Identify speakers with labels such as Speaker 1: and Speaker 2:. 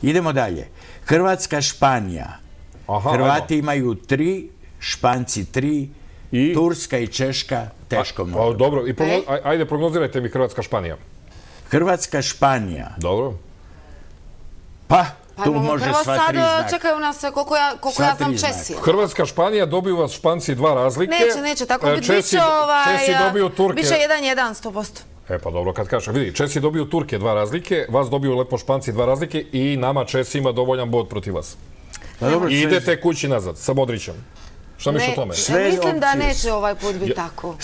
Speaker 1: Idemo dalje. Hrvatska, Španija. Hrvati imaju 3, Španci 3, Turska i Češka teško mogu.
Speaker 2: Dobro, ajde prognozirajte mi Hrvatska, Španija.
Speaker 1: Hrvatska, Španija.
Speaker 2: Dobro.
Speaker 1: Pa, tu može sva 3 znaka.
Speaker 3: Prvo sad čekaju nas, koliko ja znam, Česi.
Speaker 2: Hrvatska, Španija, dobiju vas Španci 2 razlike.
Speaker 3: Neće, tako biće
Speaker 2: Česi dobiju Turke.
Speaker 3: Biće 1-1, 100%.
Speaker 2: E pa dobro, kad kažem, vidi, Česi dobiju Turke 2 razlike, vas dobiju lepo Španci 2 razlike i nama Česi ima dovoljan bod protiv vas. I idete kući nazad sa Modrićem. Šta misliš o tome?
Speaker 3: Mislim da neće ovaj put biti tako.